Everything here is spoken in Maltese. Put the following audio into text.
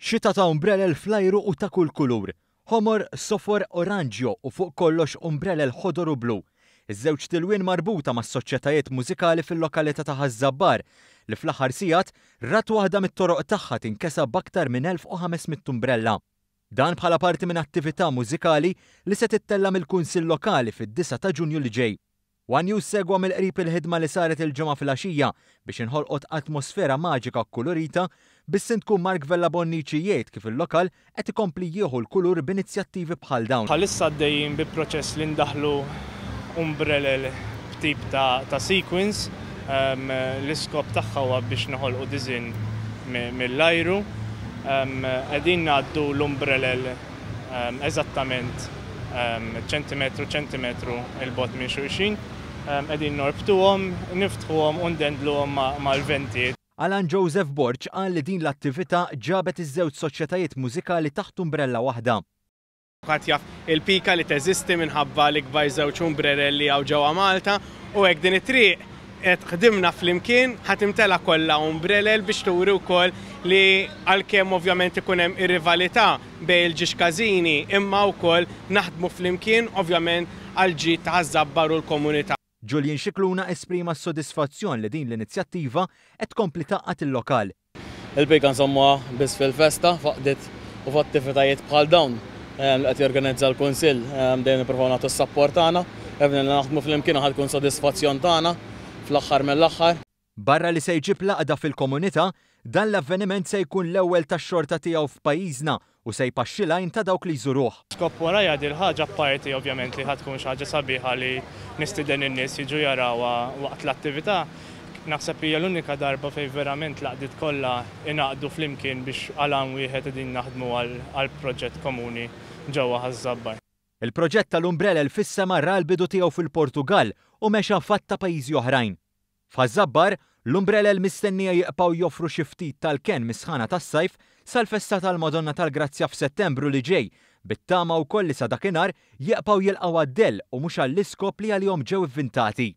Xita ta' umbrelel fl-ajru u ta' kull kulur. Ħomor, sofor, oranġjo u fuq kollox umbrelel ħodor u blu. Iż-żewġ tilwien marbuta mas-soċjetajiet mużikali fil-lokalità ta' Ħaż-Żabbar, li fl-aħħar sigħat rat waħda mit-toroq tagħha tinkesa b'aktar minn 1,500 umbrella. Dan bħala parti minn attività mużikali li se tittella' mill-Kunsill Lokali fid-disgħa ta' Ġunju li ġej. One News segwa mill-qrib il-ħidma li saret il-Ġimgħa filgħaxija biex inħolqot atmosfera maġika u kkulurita, bis-Sindku Mark Vella Bonnici jgħid kif il-lokal qed ikompli jieħu l-kulur b'inizjattivi bħal dawn. Bħalissa għaddejjin bi proċess li ndaħħlu umbrelel b'tip ta' sequins. L-iskop tagħha huwa biex noħolqu diżinn mill-ajru. Qegħdin ngħaddu l-umbrelel eżattament ċentimetru ċentimetru 'l bogħod minn xulxin. Qegħdin norbtuhom, niftħuhom u ndendluhom mal-venti. Alan Joseph Borg qal li din l-attività ġabet iż-żewġ soċjetajiet mużikali taħt umbrella waħda. Kulħadd jaf il-pika li teżisti minħabba l-ikbar żewġ umbrerel li hawn ġewwa Malta u hekk din it-triq qed ħdimna flimkien ħa timtela kollha umbrelel biex turi wkoll li għalkemm ovvjament ikun hemm ir-rivalità bejn il-ġiex każini imma wkoll naħdmu flimkien ovvjament għall-ġid ta' Ħaż-Żabbar u l-komunità. Julian Scicluna esprima s-sodisfazzjon li din l-inizjattiva qed tkompli tgħaqqad il-lokal. Il-pika nżommuha biss fil-festa, f'għaqdiet u f'attivitajiet bħal dawn li qed jorganizza l-Kunsill dejjem nippruvaw nagħtu s-sapport tagħna. Qegħdin naħdmu flimkien u ħa tkun sodisfazzjon tagħna fl-aħħar mill-aħħar. Barra li se jġib l-għaqda fil-komunità, dan l-avveniment se jkun l-ewwel tax-xorta tiegħu f'pajjiżna u se jpaxxi l-għajn ta' dawk li jżuruh. Skop warajha dil-ħaġa apparti ovvjament li ħa tkun xi ħaġa sabiħa li nistieden in-nies jiġu jarawha waqt l-attività, naħseb hija l-unika darba fejn verament l-għaqdiet kollha ingħaqdu flimkien biex għal għan wieħed qegħdin naħdmu għal proġett komuni ġewwa Ħaż-Żabbar. Il-proġett tal-umbrelel fis-sema ra l-bidu tiegħu fil-Portugall u mexa f'għadd ta' pajjiżi oħrajn. F'Ħaż-Żabbar, l-umbrelel mistennija jiqpgħu joffru xi ftit tal-kenn mis-sħana tas-sajf sal-festa tal-Madonna tal-Grazzja f'Settembru li ġej, bit-tama wkoll li sa dakinhar jiqpgħu jilqgħu għad-dell u mhux għall-iskop li għalihom ġew ivvintati.